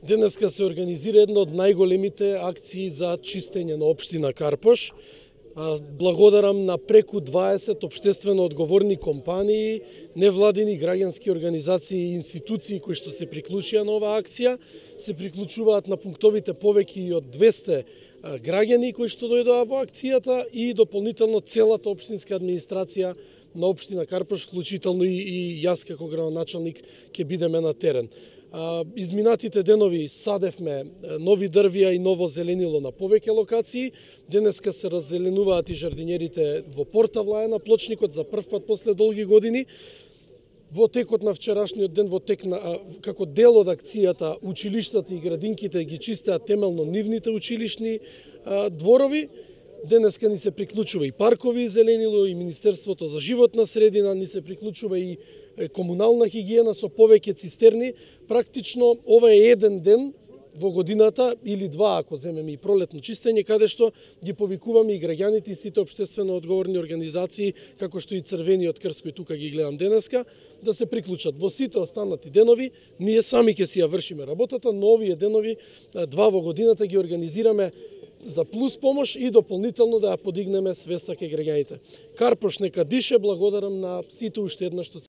Денеска се организира една од најголемите акции за чистење на општина Карпош. Благодарам на преку 20 општествено одговорни компании, невладини граѓански организации и институции кои што се приклучија на оваа акција. Се приклучуваат на пунктовите повеќе и од 200 граѓани кои што дојдоа во акцијата и дополнително целата општинска администрација на општина Карпош, вклучително и јас како градоначалник ќе бидеме на терен. Изминатите денови садевме нови дрвја и ново зеленило на повеќе локации. Денеска се раззеленуваат и жардинерите во Порта Влаја на Плочникот за прв пат после долги години. Во текот на вчерашниот ден, како дел од акцијата, училиштата и градинките ги чистеат темелно нивните училишни дворови. Денеска ни се приклучува и паркови и зеленило, и Министерството за животна средина, ни се приклучува и комунална хигиена со повеќе цистерни. Практично ова е еден ден во годината, или два ако земеме и пролетно чистење, каде што ги повикуваме и граѓаните и сите општествено одговорни организации, како што и Црвениот крст кој тука ги гледам денеска, да се приклучат. Во сите останати денови ние сами ќе си ја вршиме работата, но овие денови, два во годината, ги организираме за плюс помош и дополнително да ја подигнеме свеста кај граѓаните. Карпош нека дише, благодарам на сите уште еднаш што